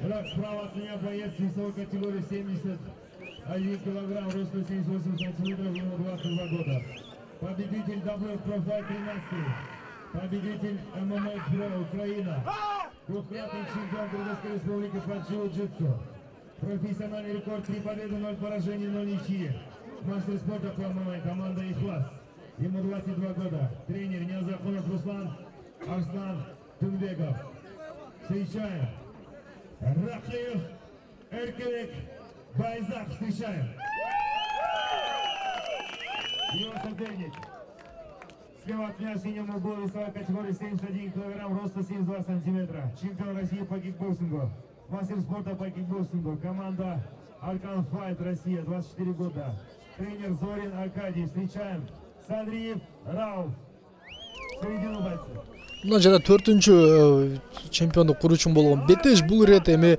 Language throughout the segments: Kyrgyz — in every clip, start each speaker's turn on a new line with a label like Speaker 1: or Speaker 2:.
Speaker 1: Итак, справа от меня боец весовой категории 71 килограмм, роста 78 сантиметров, ему 22 года. Победитель WF Pro Fight 13, победитель ММА Pro Украина, двукратный чемпион Кыргызской республики по джиу-джитсу. Профессиональный рекорд 3 победы, 0 поражений, 0 ничьи. Мастер спорта по ММА, команда «Ихлас». Ему 22 года. Тренер Ниязакунов Руслан, Арслан Тунбеков. Встречаем. Ракыев, Эркебек, Байзак. Встречаем. Его соперник. Слева от меня синему бою весовой категории 71 килограмм, роста 72 сантиметра. Чемпион России по кикбоксингу. Мастер спорта по кикбоксингу. Команда Аркан Файт Россия, 24 года. Тренер Зорин Аркадий. Встречаем. Садриев Рауф. Середину бойцов.
Speaker 2: Мына жана 4-чү чемпиондук куруучу болгон Бетеш бул ирет эми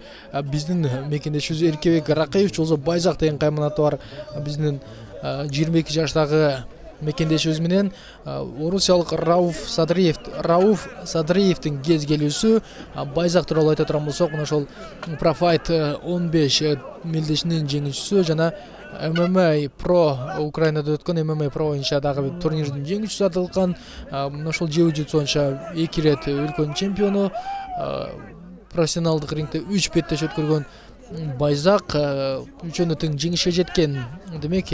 Speaker 2: биздин мекендешибиз Эркебек Ракыев болсо Байзак деген кайманаты бар. Биздин 22 жаштагы мекендешибиз менен орусиялык Рауф Садриевдин кез келүүсү. Байзак тууралуу айта турган болсок, мына ошол Профайт 15 мелдешинин жеңүүчүсү жана ММА Pro Украинада өткөн ММА Pro боюнча дагы турнирдин жеңүүчүсү аталган. Мына ошол джиу-джитсу боюнча 2 ирет өлкөнүн чемпиону. Профессионалдык рингде 3 беттеш өткөргөн Байзак үчөөнө тең жеңишке жеткен. Демек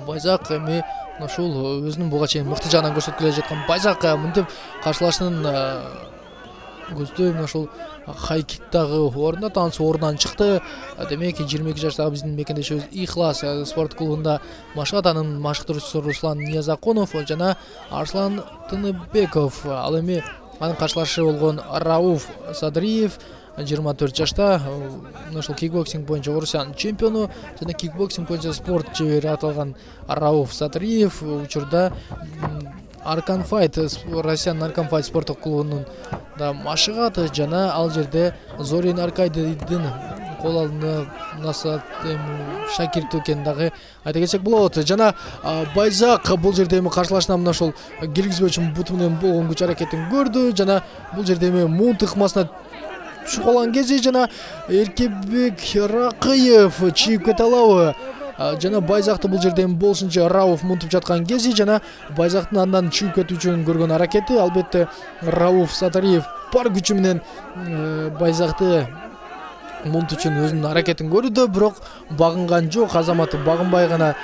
Speaker 2: Байзак эми ушул өзүнүн буга чейин мыкты жагынан көрсөтүп келе жаткан Байзак мынтип каршылашынын көздөй мына ушул хайкиктагы орунда таныс орундан чыкты. Демек 22 жаштагы биздин мекендешибиз Ихлас спорт клубунда машыгат. Анын машыктыруучусу Руслан Ниязакунов жана Арслан Тыныбеков. Ал эми анын каршылашы болгон Рауф Садриев 24 жашта. Ушул кикбоксинг боюнча Орусиянын чемпиону жана кикбоксинг боюнча спорт чебери аталган Рауф Садриев учурда Аркан Файт, Россиянын Аркан Файт спорттук клубунун да машыгат жана ал жерде Зорин Аркадийдин кол алдына насаат шакирти экенин дагы айта кетсек болот. Жана Байзак бул жерде эми каршылашына мына ошол киргизбөөчү буту менен болгон күч аракетин көрдү жана бул жерде эми мунт ыкмасына түшүп калган кези жана Эркебек Ракыев чийип кете алабы? Жана Байзакты бул жерде болушунча Рауф мунтуп жаткан кези жана Байзактын андан чүйүп кетүү үчүн көргөн аракети. Албетте Рауф Садриев бар күчү менен Байзакты мунт үчүн өзүнүн аракетин көрүүдө, бирок багынган жок. Азаматы багынбай гана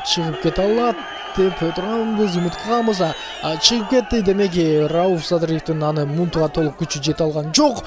Speaker 2: чыгып кете алат деп турганбыз, үмүт кылганбыз. Чыгып кетти. Демек Рауф Садриевдин аны мунтуга толук күчү жете алган жок.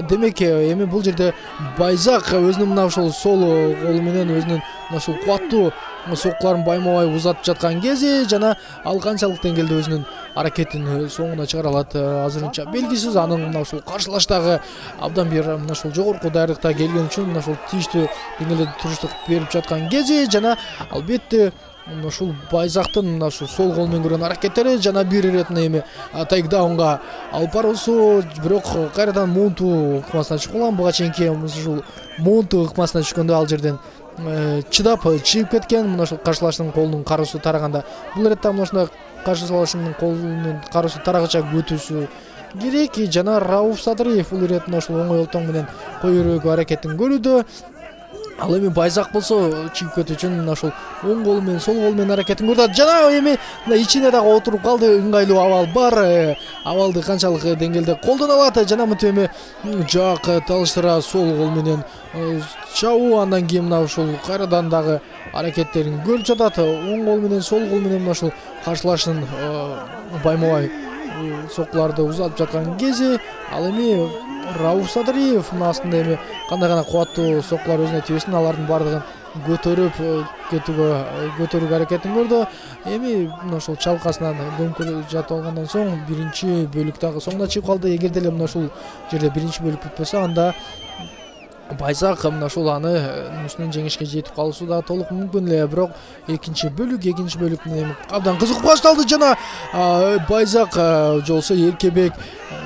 Speaker 2: Демек эми бул жерде Байзак өзүнүн мына ушул сол колу менен өзүнүн ушул кубаттуу соккуларын байма-бай узатып жаткан кези жана ал канчалык деңгээлде өзүнүн аракетин соңуна чыгара алат азырынча белгисиз. Анын мына ушул каршылаштагы абдан бир мына ушул жогорку даярдыкта келген үчүн мына ушул тийиштүү деңгээлде туруштук берип жаткан кези жана албетте мына ушул Байзактын мына ушул сол кол менен көргөн аракеттери жана бир иретине эми тейкдаунга алып баруусу, бирок кайрадан мунту ыкмасына түшүп калган. Буга чейинки ушул мунту ыкмасына түшкөндө ал жерден чыдап чыгып кеткен. Мына ушул каршылашынын колунун кароосу тараганда бул иретте мына ушундай каршылашынын колунун кароосу тарагыча өтүүсү керек. Жана Рауф Садриев бул ирет мына ушул оңой олтоң менен кой өрөөгө аракетин көрүүдө. Ал эми Байзак болсо чыгып кетүү үчүн мына ушул оң колу менен сол колу менен аракетин көрдү. Жана эми мына ичине дагы отуруп калды. Ыңгайлуу абал бар. Абалды канчалык деңгээлде колдоно алат жана мынтип эми жак талыштыра сол кол менен чабуу. Андан кийин мына ушул кайрадан дагы аракеттерин көрүп жатат. Оң кол менен сол кол менен мына ушул каршылашынын байма-бай соккуларды узатып жаткан кези ал эми Рауф Садриев мына астында эми кандай гана кубаттуу соккулар өзүнө тийбесин алардын бардыгын көтөрүүгө аракетин көрдү. Эми мына ушул чалкасынан дөмкөлө жатып алгандан соң биринчи бөлүк дагы соңуна чыгып калды. Эгерде эле мына ушул жерде биринчи бөлүк бүтпөсө анда Байзак мына ушул аны үстүнөн жеңишке жетип калуусу да толук мүмкүн эле. Бирок экинчи бөлүк менен абдан кызык башталды жана Байзак жолсо Эркебек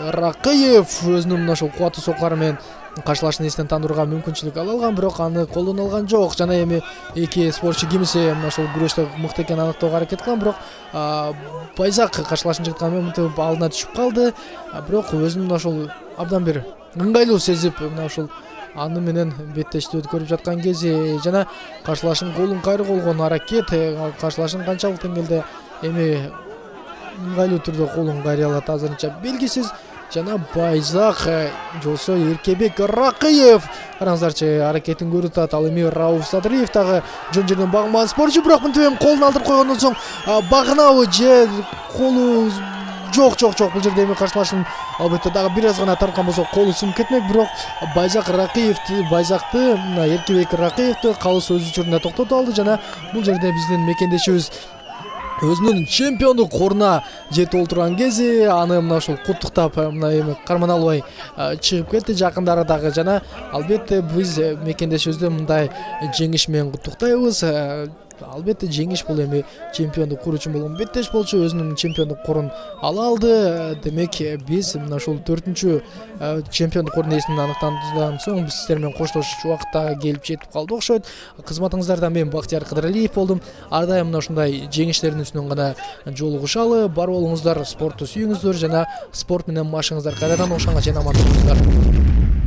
Speaker 2: Ракыев өзүнүн мына ушул кубаттуу соккулары менен каршылашын эстен тандырууга мүмкүнчүлүк ала алган, бирок аны колдоно алган жок. Жана эми эки спортчу кимиси мына ушул күрөштө мыкты экенин аныктоого аракет кылган, бирок Байзак каршылашын жыткан менен мынтип алдына түшүп калды. Бирок өзүнүн мына ушул абдан бир ыңгайлуу сезип мына ушул аны менен беттештүү көрүп жаткан кези жана каршылашын колун кайрып болгон аракет каршылашын канчалык деңгээлде эми ыңгайлуу түрдө колун кайрый алат азырынча белгисиз. Жана Байзак жолсо Эркебек Ракыев караңыздарчы аракетин көрүп атат. Ал эми Рауф Садриев дагы жөн жерден багман спортчу, бирок мынтип колун алдырып койгондон соң багынабы же колу жок бул жерде эми каршылашын албетте дагы бир аз гана тарткан болсо колу сынып кетмек, бирок Байзакты Эркебек Ракыевди калыс өз учурунда токтотуп алды жана бул жерде биздин мекендешибиз өзүнүн чемпиондук ордуна жетип олтурган кези аны мына ушул куттуктап мына эми карман албай чыгып кетти жакындары дагы жана албетте биз мекендешибизди мындай жеңиш менен куттуктайбыз. Албетте жеңиш бул эми чемпиондук куруу үчүн болгон беттеш болчу, өзүнүн чемпиондук корун ала алды. Демек биз мына ушул 4-чү чемпиондук кордун ээсин аныктагандан соң биз сиздер менен коштошуу убакытта келип жетип калды окшойт. Кызматыңыздарда мен Бактияр Кыдыралиев болдум. Ар дайым мына ушундай жеңиштердин үстүнөн гана жолугушалы. Бар болуңуздар, спортту сүйүңүздөр жана спорт менен машыгыңыздар. Кайрадан ошонго чейин аман болуңуздар.